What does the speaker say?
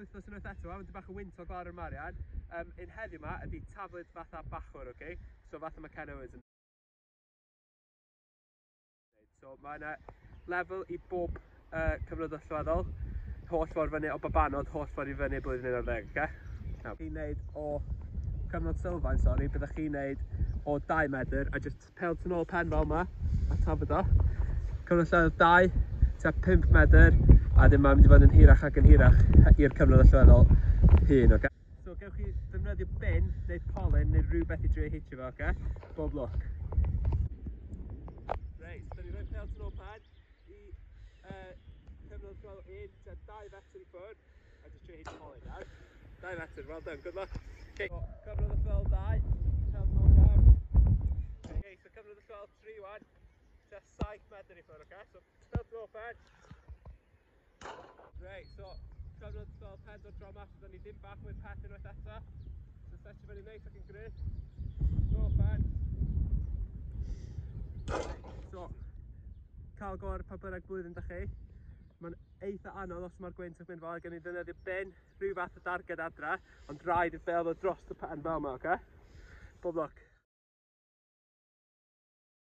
wythnos unwaith eto, mae'n bach o wyntog lawr yn Marian. Un heddiw yma ydy taflid fatha bachwr, okay? So fatha mae Ken Owens yn. So mae yna lefel i bob cyfnod allweddol, holl ffordd fyny o babanod, holl ffordd i fyny blwyddyn 11, okay? Nawr, chi'n neud o cyfnod sylfaen, sori, byddwch chi'n neud o 2 medr a just pel tu nôl pen fel yma, a tafod o. Cyfnod allweddol 2, tua 5 medr, a wedyn mae'n mynd i fod yn hirach ac yn hirach i'r cyfnod allweddol hyn, okay? So gewch chi ddefnyddio bin neu polyn neu rhywbeth i drio hitio fo, okay? Bob lwc. Reit, so da ni'n rhoi pel tu nôl pen i cyfnod allweddol 1, tua 2 fetr i ffwrdd, a just trio hitio polyn, iawn? 2 metr, well done, good luck. Okay. So, cyfnod allweddol 2, pel tu nôl pen. Okay, so cyfnod allweddol 3 wan, tua 7 metr i ffwrdd, okay? So pel tu nôl pen. Reit, so cyfnod allweddol 4 tro yma, so da ni ddim bach mwy pell unwaith eto. So setio fyny neis ac yn gry. Nôl pen. So, cael go ar pa bynnag blwyddyn da chi. Mae'n eitha anodd os mae'r gwynt yn mynd fel, gen i ddefnyddio bin, rhyw fath o darged adra, ond rhaid i'r bel ddod dros y pen fel yma, oce? Bob lwc.